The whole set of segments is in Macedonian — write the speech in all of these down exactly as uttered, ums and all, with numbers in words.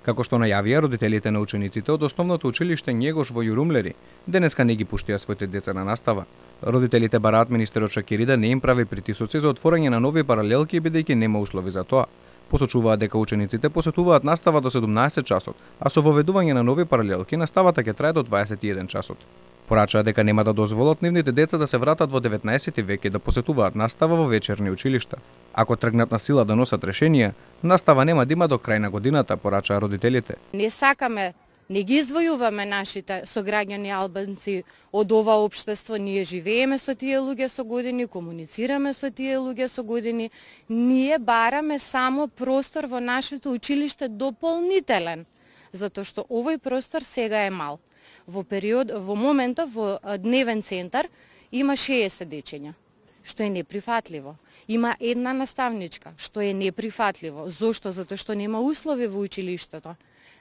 Како што најавија родителите на учениците од основното училиште Његош во Јурумлери, денеска не ги пуштија своите деца на настава. Родителите бараат министерот Шакири да не им прави притисоци за отворање на нови паралелки бидејќи нема услови за тоа. Посочуваат дека учениците посетуваат настава до седумнаесет часот, а со воведување на нови паралелки наставата ќе трае до дваесет и еден часот. Порачаа дека нема да дозволат нивните деца да се вратат во деветнаесети век и да посетуваат настава во вечерни училишта. Ако тргнат на сила да носат решенија, настава нема да има до крај на годината, порачаа родителите. Не сакаме, не ги извојуваме нашите сограѓани албанци од ова општество, ние живееме со тие луѓе со години, комуницираме со тие луѓе со години, ние бараме само простор во нашето училиште дополнителен, затоа што овој простор сега е мал. Во период, во момента во дневен центар има шеесет дечиња, што е неприфатливо. Има една наставничка, што е неприфатливо. Зошто? Затоа што нема услови во училиштето.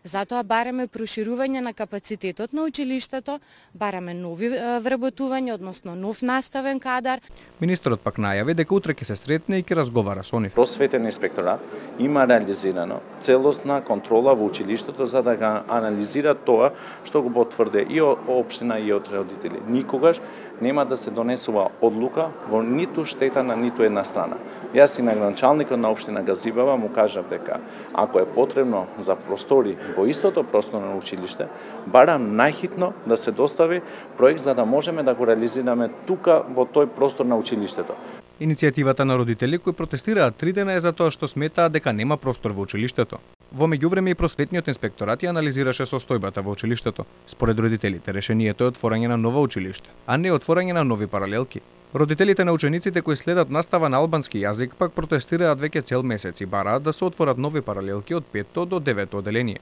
Затоа бараме проширување на капацитетот на училиштето, бараме нови вработувања, односно нов наставен кадар. Министерот пак најави дека утре ќе се сретне и ќе разговара со нив. Просветен инспекторат има реализирано целосна контрола во училиштето за да ga анализира тоа што го потврде и општина и од родители. Никогаш нема да се донесува одлука во ниту штета на ниту една страна. Јас и на граначалникот на општина Газибава му кажав дека ако е потребно за простори во истото просторно училиште, барам најхитно да се достави проект за да можеме да го реализираме тука во тој простор на училиштето. Иницијативата на родители кои протестираат три дена е за тоа што сметаат дека нема простор во училиштето. Во меѓувреме и просветниот инспекторат ја анализираше состојбата во училиштето. Според родителите, решението е отворање на ново училиште, а не отворање на нови паралелки. Родителите на учениците кои следат настава на албански јазик пак протестираат веќе цел месец и бараат да се отворат нови паралелки од петто до девето оделение.